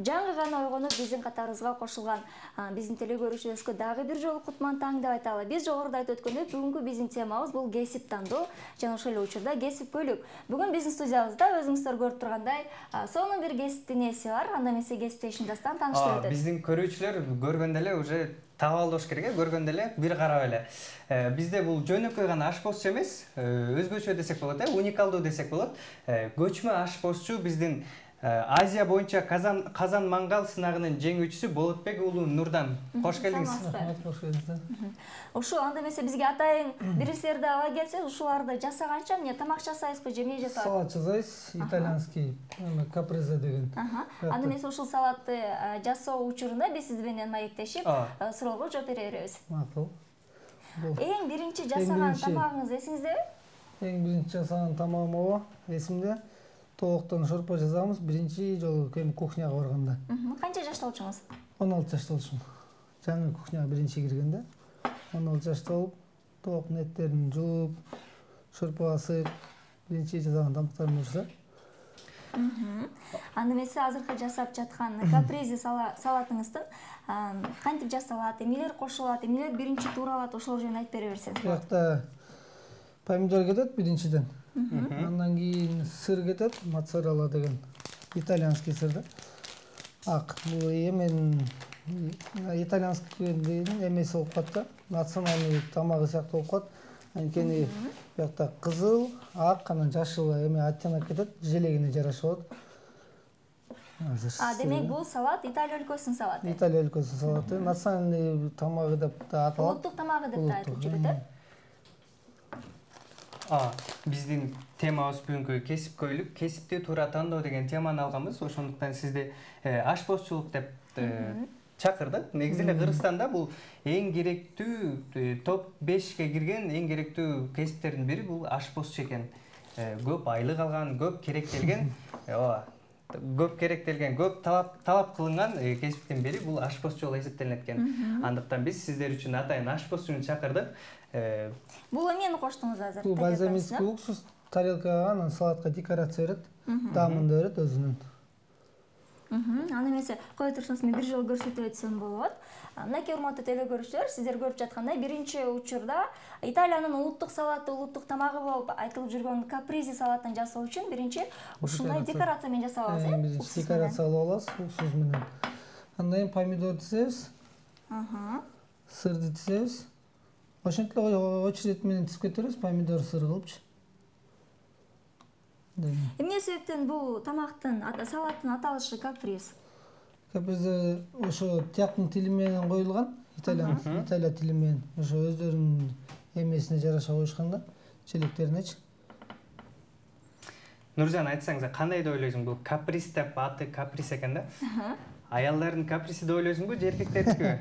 жаңы гана ойгонуп биздин катарыбызга кошулган биздин теле көрүүчүлөрүбүзгө дагы бир жолу кутман таң деп айталы. Биз жогоруда айтып өткөндөй, бүгүнкү биздин темабыз бул кесип тандоо жана ошол эле учурда кесип көйлүк. Бүгүн биздин студиябызда өзүңүздөр көрүп тургандай, сонун бир кесиптин ээси бар. Анда эмесе кесиптешин дастан тааныштырып өтөт. Биздин көрүүчүлөр көргөндө эле уже таап алыш керек, көргөндө эле бир карап эле. Бизде бул жөнөкөй гана ашпозчу эмес, өзгөчө десек болот, уникалдуу десек болот. Көчмө ашпозчу биздин Азия боюнча казан мангал сынагынын жеңүүчүсү Болотбек уулу Нурдан. Кош келдиңиз. Кош келдиңиз. Ушул анда эмесе бизге атайын биристерди ала келсеңиз, ушуларды жасаганча эмне тамак жасайсызбы, же эмне жасайсыз? Салат жасайбыз, итальянский каприза деген. Анда эмесе ушул салатты жасоо учурунда биз сиз менен маектешип, суроого жооп бере беребиз. Макул. Эң биринчи жасаган тамагыңыз эсиңиздеби? Эң биринчи жасаган тамагым эсимде. Токтон шорпо жасаганбыз биринчи жолу кухняга барганда. Канча жашта болчуңуз? 16 жашта болчумун. Жаңы кухняга биринчи киргенде 16 жашта болуп, токтун эттерин жууп, шорпо асып, биринчи жасаган тамактарым ушул. Анда эмесе азыркы жасап жаткан капризи салатыңыздын кантип жасалат, эмнелер кошулат, эмнелер биринчи тууралат, ошол жөнүндө айтып бере берсеңиз. Буякта помидор кетет биринчиден. Андан кийин сыр кетет, моцарелла деген итальянский сыр да. Ак, бул эмен итальянский деген эмеси болуп калат да, национальный тамагы сыяктуу болуп калат. Анткени буякта кызыл, ак, анан жашыл эме оттенок кетет, желегине жараша болот. Демек бул салат Италия өлкөсүнүн салаты. Италия өлкөсүнүн салаты, национальный тамагы деп да аталат. Улуттук тамагы деп да айтып жүрөт. Биздин темабыз бүгүнкү кесип көйлүк, кесипти туура тандоо деген теманы алганбыз. Ошондуктан сизди ашпозчулук деп чакырдык. Негизи эле Кыргызстанда бул эң керектүү топ 5ке кирген эң керектүү кесиптердин бири бул ашпозчу экен. Көп айлык алган, көп керектелген, көп талап кылынган кесиптин бири бул ашпозчу болуп эсептелет экен. Андыктан биз сиздер үчүн атайын ашпозчуну чакырдык. Бул эмнени коштуңуз азыр? Бул бальзамический уксус тарелкага, анан салатка декорация берет, дамын да берет өзүнүн. Анда эмесе кое турсаңыз, мен бир жолу көрсөтүп өтсөм болот. Мынакей урматтуу теле көрүүчүлөр, сиздер көрүп жаткандай, биринчи учурда Италиянын улуттук салаты, улуттук тамагы болуп айтылып жүргөн капризи салатын жасоо үчүн биринчи ушундай декорация менен жасап алабыз, Декорация алып алабыз уксус менен. Андан кийин помидор тизебиз. Сырды тизебиз. Ошентип эле очередь менен тизип кетебиз, помидор сыр кылыпчы. Эмне себептен бул тамактын, салаттын аталышы каприз? Каприз ошо тияктын тили менен коюлган, Италия тили менен. Ошо өздөрүнүн эмесине жараша коюшкан да, желектеринечи. Нуржан, айтсаңыз, кандай деп ойлойсуң, бул каприз деп аты каприз экен да? Аялдардын капризи деп ойлойсуңбу же эркектердики?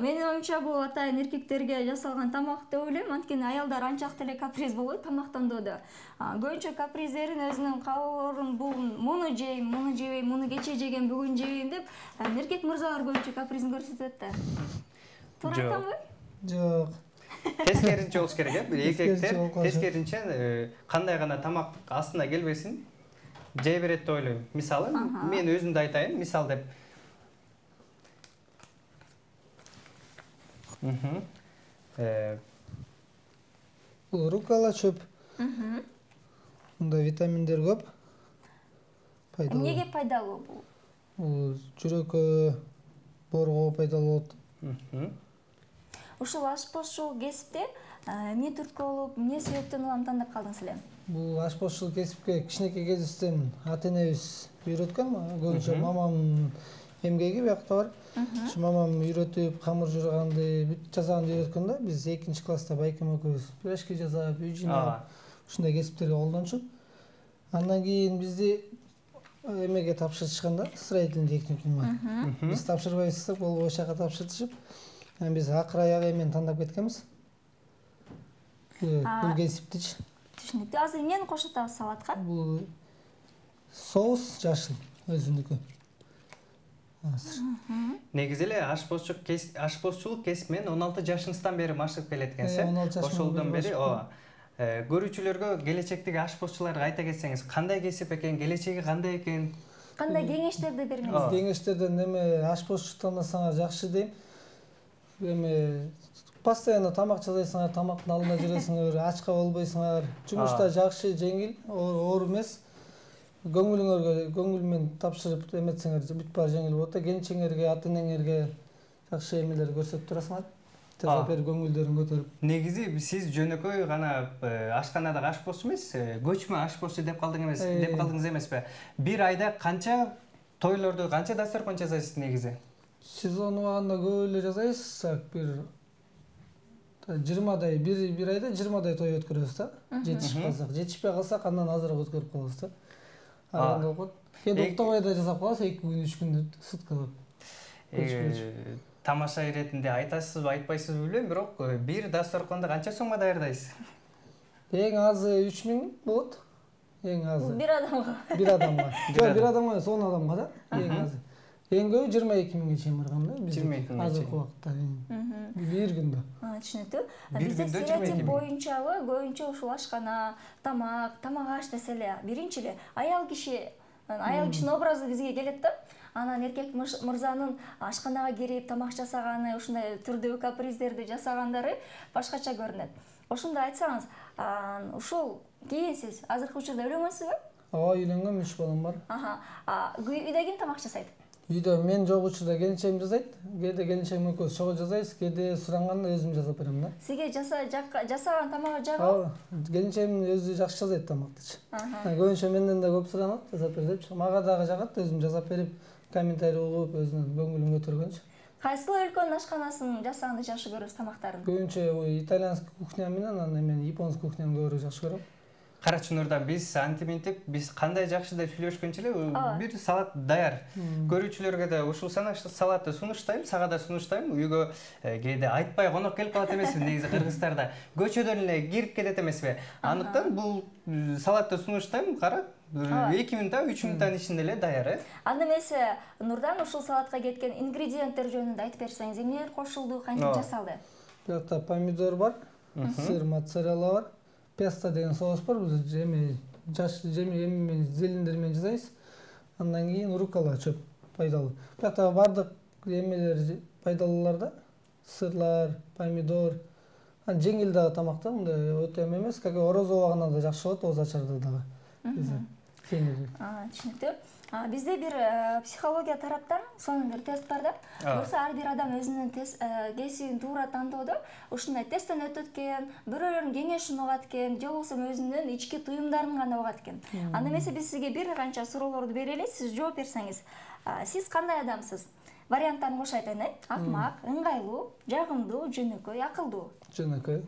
Менин оюмча бул атайын эркектерге жасалган тамак деп ойлойм, анткени аялдар анчак деле каприз болбойт тамактандоодо. Көбүнчө каприздерин өзүнүн каалоолорун бул муну жейм, муну жебейм, муну кечээ жеген, бүгүн жебейм деп эркек мырзалар көбүнчө капризин көрсөтөт да. Туура айтамбы? Жок. Тескеринче болуш керек, эркектер тескеринче кандай гана тамак астына келбесин жей берет деп ойлойм. Мисалы, мен өзүмдү айтайын, мисал деп. Бул руккола чөп. Мында витаминдер көп. Эмнеге пайдалуу бул? Бул жүрөккө, боорго пайдалуу болот. Ушул ашпозчулук кесипте эмне түрткү болуп, эмне себептен улам тандап калдыңыз эле? Бул ашпозчулук кесипке кичинекей кезибизден ата-энебиз үйрөткөн, көбүнчө мамамдын эмгеги биякта бар. Ушу мамам үйрөтүп, камыр жууганды, бүт жасаганды үйрөткөн да. Биз 2 класста байкем экөөбүз пирожки жасап, үй жыйнап, ушундай кесиптерге колдончук. Андан кийин бизди эмеге тапшырышкан да, строительный техникумга. Биз тапшырбайбыз, болбой жака тапшыртышып, биз акыр аягы эмени тандап кеткенбиз. Бул кесиптичи. Түшүнүктүү. Азыр эмнени кошуп атабыз салатка? Бул соус жашыл өзүнүкү. Негизи эле ашпозчулук кесип менен 16 жашыңыздан бери машыгып келет экенсиз. Ошолдон бери көрүүчүлөргө келечектеги ашпозчуларга айта кетсеңиз, кандай кесип экен, келечеги кандай экен? Кандай кеңештерди бермеңиз? Кеңештерден эме ашпозчу тандасаңар жакшы дейм. Эме постоянно тамак жасайсыңар, тамактын алдында жүрөсүңөр, ачка болбойсуңар. Жумушта жакшы, жеңил, оор эмес. Көңүл менен тапшырып эметсеңер бүт баары жеңил болот да. Келинчеңерге, ата-энеңерге жакшы эмелер көрсөтүп турасыңар. Жасап берип көңүлдөрүн көтөрүп. Негизи сиз жөнөкөй гана ашканадагы ашпозчу эмес, көчмө ашпозчу деп калдыңыз эмеспи? Бир айда канча тойлорду, канча дасторкон жасайсыз негизи? Сезон убагында көп эле жасайбыз. Бир 20дай, бир айда 20дай той өткөрөбүз да. Жетишип калсак, жетишпей калсак андан азыраак өткөрүп коебуз да. Анда болот. Кээде уктабай да жасап калабыз, 2 күн, 3 күн суткалап. Тамаша иретинде айтасызбы, айтпайсызбы билбейм, бирок бир дасторконду канча сомго даярдайсыз? Эң азы 3000 болот. Эң азы. Бир адамга. Бир адамга. Жок, бир адамга эмес, 10 адамга да. Эң азы. Эң көбү 22000 чейин барган да. 22000 чейин. Азыркы убакта. Бир күндө. Түшүнүктүү. Бизде стереотип боюнчабы көбүнчө ушул ашкана, тамак аш десе эле биринчи эле аял кишинин образы бизге келет да. Анан эркек мырзанын ашканага кирип тамак жасаганы, ушундай түрдүү каприздерди жасагандары башкача көрүнөт. Ошондо айтсаңыз, ушул кийин сиз азыркы учурда үйлөнгөнсүзбү? Ооба, үйлөнгөм, 3 балам бар. Үйдө ким тамак жасайт? Үйдө мен жок учурда келинчегим жасайт. Кээде келинчегим экөөбүз чогуу жасайбыз, кээде суранганда өзүм жасап берем да. Сизге жасаган тамагы жагабы? Келинчегим өзү жакшы жасайт тамактычы. Көбүнчө менден да көп суранат, жасап бер депчи. Мага дагы жагат, өзүм жасап берип, комментарий угуп, өзүнүн көңүлүн көтөргөнчү. Кайсы өлкөнүн ашканасын жасаганды жакшы көрөсүз тамактарын? Көбүнчө итальянский кухня менен анан эмен японский кухняны көбүрөөк жакшы көрөм. Карачы Нурда биз антиминтип, биз кандай жакшы деп сүйлөшкөнчө эле бир салат даяр. Көрүүчүлөргө да ушул салатты сунуштайм, сага да сунуштайм. Үйгө кээде айтпай конок келип калат эмеспи, негизи кыргыздарда көчөдөн эле кирип келет эмеспи. Андыктан бул салатты сунуштайм, кара. 2 минуттан 3 минуттан ичинде эле даяр. Анда эмесе Нурдан ушул салатка кеткен ингредиенттер жөнүндө айтып берсеңиз, эмнелер кошулду, кантип жасалды? Биякта помидор бар, сыр, моцарелла бар. Песто деген соус бар, биз жаш эми зелендер менен жасайбыз. Андан кийин руккола чөп пайдалуу. Биякта бардык эмелер пайдалуулар да. Сырлар, помидор. Жеңил дагы тамак да, мындай өтө эмес, как ороз убагында да жакшы болот, оз ачарда дагы. Түшүнүктүү. Бизде бир психология тараптан сонун бир тест бар да. Буюрса ар бир адам өзүнүн кесибин туура тандоодо ушундай тесттен өтөт экен, бирөөлөрдүн кеңешин угат экен, же болбосо өзүнүн ички туюмдарын гана угат экен. Анда эмесе биз сизге бир канча суроолорду берели, сиз жооп берсеңиз. Сиз кандай адамсыз? Варианттарын кошо айтайын, акмак, ыңгайлуу, жагымдуу, жөнөкөй, акылдуу. Жөнөкөй.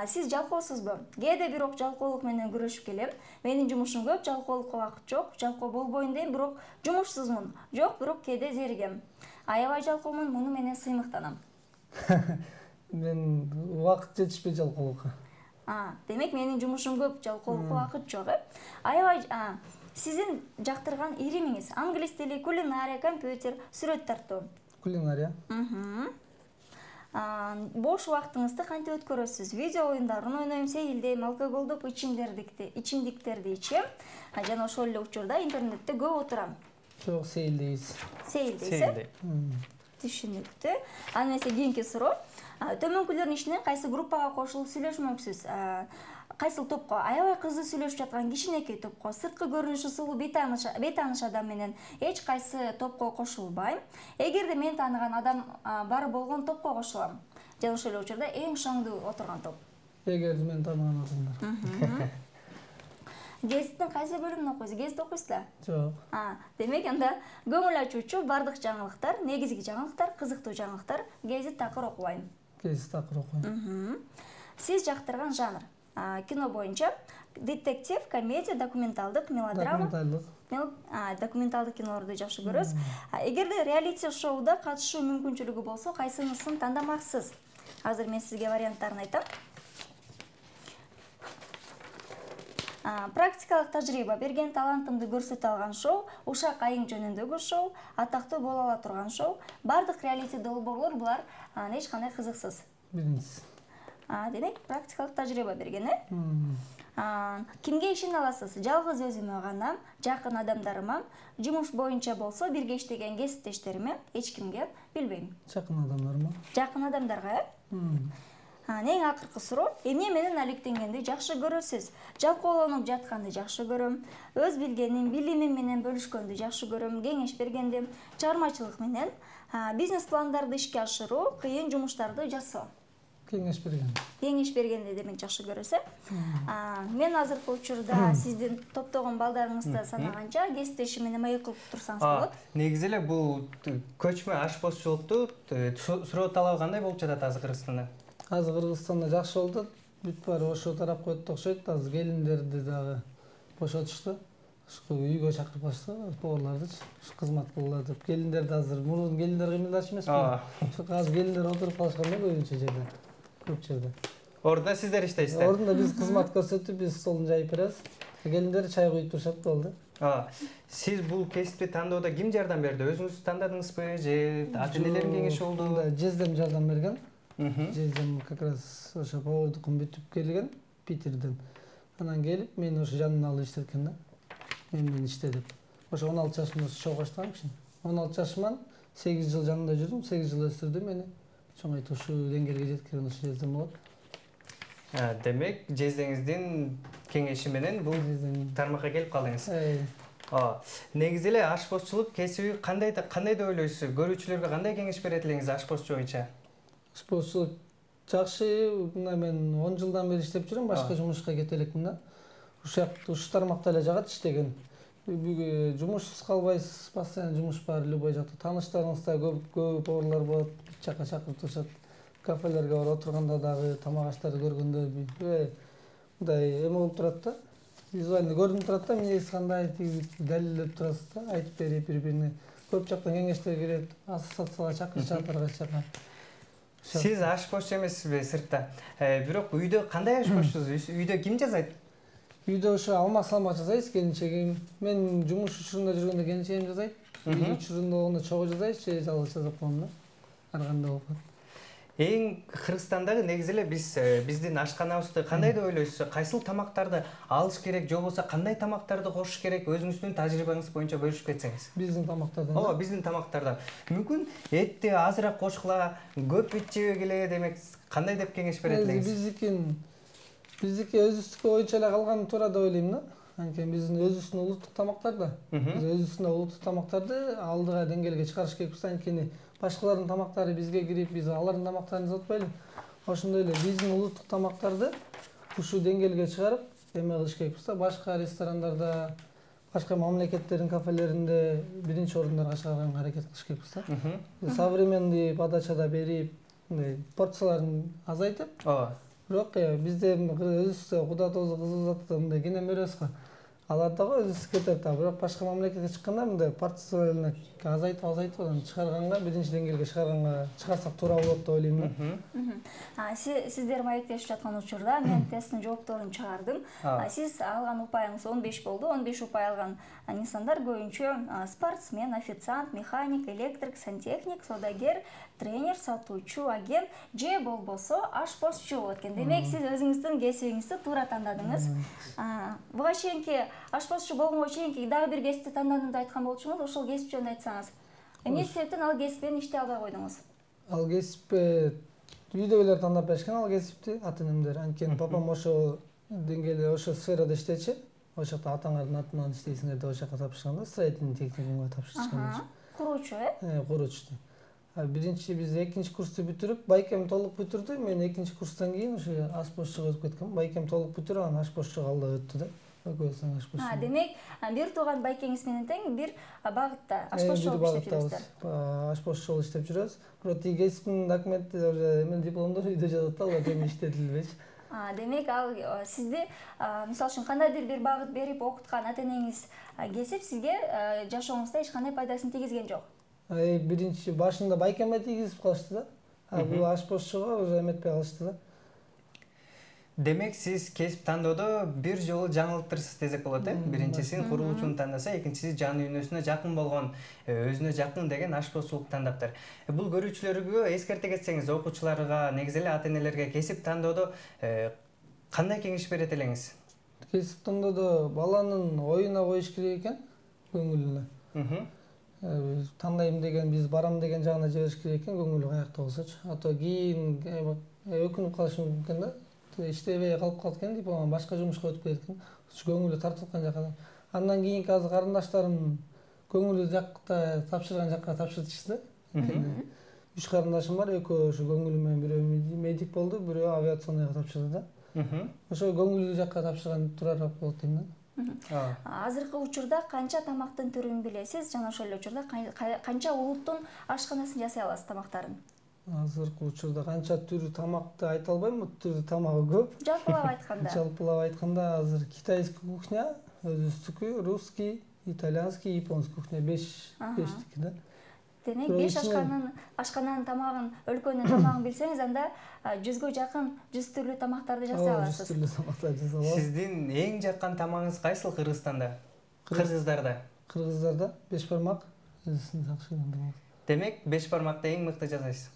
Сиз жалкоосузбу? Кээде бирок жалкоолук менен күрөшүп келем. Менин жумушум көп, жалкоолукка убакыт жок. Жалкоо болбойн дейм, бирок жумушсузмун. Жок, бирок кээде зеригем. Аябай жалкоомун, муну менен сыймыктанам. Мен убакыт жетишпейт жалкоолукка. Демек менин жумушум көп, жалкоолукка убакыт жок, Аябай сиздин жактырган иримиңиз? Англис тили, кулинария, компьютер, сүрөт тартуу. Кулинария. Бош убактыңызды кантип өткөрөсүз? Видео оюндарын ойнойм, сейилдейм, алкоголдук ичимдиктерди ичем. Жана ошол эле учурда интернетте көп отурам. Жок, сейилдейбиз. Сейилдейсиз? Түшүнүктүү. Анда эмесе кийинки суроо. Төмөнкүлөрдүн ичинен кайсы группага кошулуп сүйлөшмөксүз? Кайсыл топко? Аябай кызуу сүйлөшүп жаткан кичинекей топко, сырткы көрүнүшү сулуу бейтааныш адам менен эч кайсы топко кошулбайм. Эгерде мен тааныган адам бар болгон топко кошулам. Жана ошол эле учурда эң шаңдуу отурган топ. Эгерде мен тааныган адамдар. Гезиттин кайсы бөлүмүн окуйсуз? Гезит окуйсузда? Жок. Демек анда көңүл ачуучу бардык жаңылыктар, негизги жаңылыктар, кызыктуу жаңылыктар, гезит такыр окубайм. Гезит такыр окуйм. Сиз жактырган жанр? Кино боюнча детектив, комедия, документалдык, мелодрама. Документалдык кинолорду жакшы көрөсүз. Эгерде реалити шоуда катышуу мүмкүнчүлүгү болсо, кайсынысын тандамаксыз? Азыр мен сизге варианттарын айтам. Практикалык тажрыйба берген, талантымды көрсөтө алган шоу, ушак айың жөнүндөгү шоу, атактуу боло ала турган шоу. Бардык реалити долбоорлор булар эч кандай кызыксыз. Биринчиси. Демек, практикалык тажрыйба берген, Кимге ишене аласыз? Жалгыз өзүмө гана, жакын адамдарыма, жумуш боюнча болсо бирге иштеген кесиптештериме, эч кимге билбейм. Жакын адамдарыма. Жакын адамдарга, эң акыркы суроо, эмне менен алектенгенди жакшы көрөсүз? Жалкоолонуп жатканды жакшы көрөм, өз билгеним, билимим менен бөлүшкөндү жакшы көрөм, кеңеш бергенди, чыгармачылык менен бизнес пландарды ишке ашыруу, кыйын жумуштарды жасоо. Кеңеш берген. Кеңеш бергенди демек жакшы көрөсүз. Мен азыркы учурда сиздин топтогон балдарыңызды санаганча кесиптешим менен маек кылып турсаңыз болот. Негизи эле бул көчмө ашпозчулукту суроо талабы кандай болуп жатат азыр Кыргызстанда? Азыр Кыргызстанда жакшы болуп атат. Бүт баары ошо тарапка өттү окшойт. Азыр келиндерди дагы бошотушту. Ушул үйгө чакырып алышты, поварлардычы, кызмат кылгыла деп. Келиндерди азыр мурун келиндер кыймылдачу эмеспи? Ошо азыр келиндер отуруп калышкан да көбүнчө жерде. Көп жерде. Ордуна сиздер иштейсиздер. Ордуна биз кызмат көрсөтүп, биз столун жайып беребиз. Келиндер чай куюп турушат, болду. Сиз бул кесипти тандоодо ким жардам берди? Өзүңүз тандадыңызбы же ата-энелердин кеңеши болду? Жездем жардам берген. Жездем как раз ошо повардыкын бүтүп келген Питерден. Анан келип, мени ошо жанына алып иштеткен да. Мен менен иште деп. Ошо 16 жашымда чогуу баштагам киши. 16 жашыман 8 жыл жанында жүрдүм, 8 жыл өстүрдү мени. Чоңойтуп ушул деңгээлге жеткирген ошо жездем болот. Демек, жездеңиздин кеңеши менен бул тармакка келип калдыңыз. Негизи эле ашпозчулук кесиби кандай деп ойлойсуз? Көрүүчүлөргө кандай кеңеш берет элеңиз ашпозчу боюнча? Ашпозчулук жакшы. Мына мен 10 жылдан бери иштеп жүрөм, башка жумушка кете элекмин да. Ушул тармакта эле жагат иштеген. Жумушсуз калбайсыз, постоянно жумуш бар, любой жакта. Тааныштарыңыз да көп поварлар болот, бүт жакка чакырып турушат. Кафелерге барып отурганда дагы тамак аштарды көргөндө мындай эме болуп турат да. Визуально көрүнүп турат да, эмнеси кандай далилдеп турасыз да, айтып берип бири-бирине. Көп жактан кеңештер келет, ассоциацияга чакырышат, ар кайчака. Сиз ашпозчу эмессизби сыртта? Бирок үйдө кандай ашпозчусуз? Үйдө ким жасайт? Үйдө ошо алмак-салмак жасайбыз, келинчегим. Мен жумуш учурунда жүргөндө келинчегим жасайт. Үй учурунда болгондо чогуу жасайбыз, же жалгыз жасап коем да. Ар кандай болуп калат. Эң Кыргызстандагы негизи эле биздин ашканабызды кандай деп ойлойсуз? Кайсыл тамактарды алыш керек, же болбосо кандай тамактарды кошуш керек? Өзүңүздүн тажрыйбаңыз боюнча бөлүшүп кетсеңиз. Биздин тамактардан. Ооба, биздин тамактардан. Мүмкүн этти азыраак кошкула, көп ит жебегиле, демек кандай деп кеңеш берет элеңиз? Биздики өзүбүздүкү боюнча эле калганы туура деп ойлойм да. Анткени биздин өзүбүздүн улуттук тамактар да. Биз өзүбүздүн улуттук тамактарды алдыга деңгээлге чыгарыш керекпиз. Анткени башкалардын тамактары бизге кирип, биз алардын тамактарын изотпойлу. Ошондой эле биздин улуттук тамактарды ушул деңгээлге чыгарып, эме кылыш керекпиз да. Башка ресторандарда, башка мамлекеттердин кафелеринде биринчи орундарга чыгарганга аракет кылыш керекпиз да. Современный подачада берип, порцияларын азайтып. Бирок бизде өзүбүздө куда тоозу кызыл затты мындай кенен беребиз го. Алар дагы өзүбүз кетет да. Бирок башка мамлекетке чыкканда мындай порцияларды азайтып анан чыгарганга, биринчи деңгээлге чыгарганга чыгарсак туура болот деп ойлойм да. Сиздер маектешип жаткан учурда мен тесттин жоопторун чыгардым. Сиз алган упайыңыз 15 болду. 15 упай алган инсандар көбүнчө спортсмен, официант, механик, электрик, сантехник, саудагер, тренер, сатуучу, агент же болбосо ашпозчу болот экен. Демек сиз өзүңүздүн кесибиңизди туура тандадыңыз. Буга чейинки ашпозчу болгонго чейинки дагы бир кесипти тандадым деп айткан болчуңуз. Ошол кесип жөнүндө айтсаңыз. Эмне себептен ал кесип менен иштей албай койдуңуз? Ал кесипти үйдөгүлөр тандап беришкен, ал кесипти ата-энемдер. Анткени папам ошо деңгээлде, ошо сферада иштечи. Ошол жакта атаңардын атынан иштейсиңер деп ошол жака тапшырышкан да, строительный техникумга тапшырышкан. Куруучу, куруучу. Биринчи биз экинчи курсту бүтүрүп, байкем толук бүтүрдү. Мен экинчи курстан кийин ошо ашпозчуга өтүп кеткем. Байкем толук бүтүрүп, анан ашпозчуга алда өттү да. Демек, бир тууган байкеңиз менен тең бир багытта ашпозчу болуп иштеп жүрөсүздөр. Ашпозчу болуп иштеп жүрөбүз. Бирок тиги кесиптин документи эме дипломдору үйдө жатат да, алар эми иштетилбейт. Демек, ал сизди мисалы үчүн кандайдыр бир багыт берип окуткан ата-энеңиз кесип сизге жашооңузда эч кандай пайдасын тийгизген жок. Биринчи башында байкемге тийгизип калышты да. Бул ашпозчуга уже эметпей калышты да. Демек, сиз кесип тандоодо бир жолу жаңылыптырсыз десек болот, биринчисин курулуучуну тандаса, экинчиси жан дүйнөсүнө жакын болгон, өзүнө жакын деген ашпозчулук тандаптыр. Бул көрүүчүлөргө эскерте кетсеңиз, окуучуларга, негизи эле ата-энелерге кесип тандоодо кандай кеңеш берет элеңиз? кесип тандоодо баланын оюна коюш керек экен, көңүлүнө. Тандайм деген, биз барам деген жагына жибериш керек экен, көңүлү каякта болсочу. А то кийин өкүнүп калышы мүмкүн да. Иштебей калып калат экен, дипломан башка жумушка өтүп кетет экен. Көңүлү тартылган жака. Андан кийинки азыр карындаштарым көңүлү жакта тапшырган жакка тапшыртышты. 3 карындашым бар, экөө ошо көңүлү менен бирөө медик болду, бирөө авиационныйга тапшырды да. Ошо көңүлү жакка тапшырган турарак болот дейм да. Азыркы учурда канча тамактын түрүн билесиз жана ошол эле учурда канча улуттун ашканасын жасай аласыз тамактарын? Азыркы учурда канча түрү тамакты айта албайм, түрү тамагы көп. Жалпылап айтканда азыр китайский кухня, өзүбүздүкү, русский, итальянский, японский кухня 5-тики да. Демек 5 ашкананын тамагын, өлкөнүн тамагын билсеңиз, анда 100гө жакын 100 түрлүү тамактарды жасай аласыз. 100 түрлүү тамактарды жасай алабыз. Сиздин эң жаккан тамагыңыз кайсыл Кыргызстанда? Кыргыздарда? Кыргыздарда 5 бармак. Демек 5 бармакты эң мыкты жасайсыз.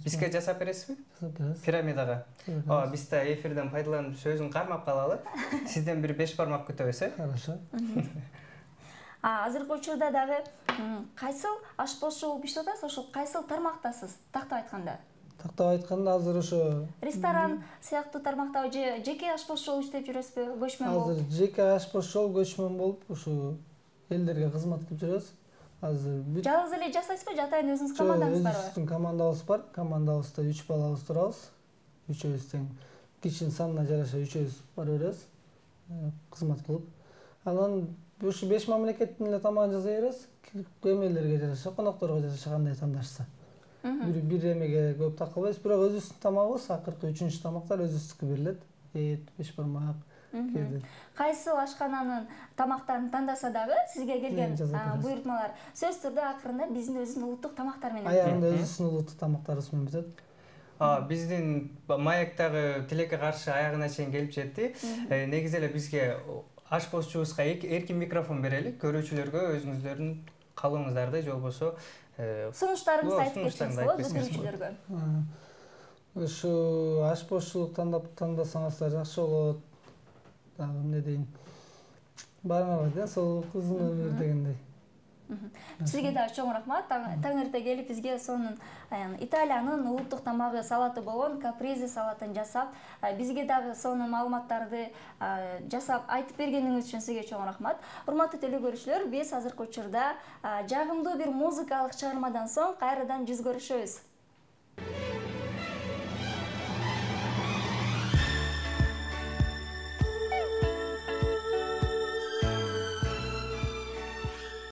Бизге жасап бересизби? Жасап беребиз. Пирамидага. Биз да эфирден пайдаланып сөзүн кармап калалы. Сизден бир 5 бармак күтөбүз, Хорошо. Азыркы учурда дагы кайсыл ашпозчу болуп иштеп атасыз, ошо кайсыл тармактасыз? Тактап айтканда. Тактап айтканда азыр ошо ресторан сыяктуу тармактабы же жеке ашпозчу болуп иштеп жүрөсүзбү? Көчмөн болуп? Азыр жеке ашпозчу болуп, көчмөн болуп, ошо элдерге кызмат кылып жүрөбүз. Азыр жалгыз эле жасайсызбы же атайын өзүңүз командаңыз барбы? Өзүбүздүн командабыз бар. Командабызда 3 балабыз турабыз. Үчөөбүз тең кишинин санына жараша үчөөбүз бара беребиз. Кызмат кылып. Анан ушу 5 мамлекеттин эле тамагын жасай беребиз. Эмелерге жараша, конокторго жараша кандай тандашса. Бир эмеге көп такалбайбыз, бирок өзүбүздүн тамагыбыз акыркы 3-үнчү тамактар өзүбүздүкү берилет. Эт, 5 бармак. Кайсыл ашкананын тамактарын тандаса дагы сизге келген буйртмалар сөзсүз түрдө акырында биздин өзүбүздүн улуттук тамактар менен. Аягында өзүбүздүн улуттук тамактарыбыз менен бүтөт. Биздин маяктагы тилекке каршы аягына чейин келип жетти. Негизи эле бизге ашпозчубузга эркин микрофон берели, көрүүчүлөргө өзүңүздөрдүн каалооңуздарды же болбосо сунуштарыңызды айтып кетсеңиз болот көрүүчүлөргө. Ушу ашпозчулук тандасаңыздар жакшы болот. Дагы эмне дейин? Барыңарга ден соолук, узун өмүр дегендей. Сизге дагы чоң рахмат. Таң эрте келип бизге сонун Италиянын улуттук тамагы салаты болгон капризи салатын жасап, бизге дагы сонун маалыматтарды жасап айтып бергениңиз үчүн сизге чоң рахмат. Урматтуу теле көрүүчүлөр, биз азыркы учурда жагымдуу бир музыкалык чыгармадан соң кайрадан жүз көрүшөбүз.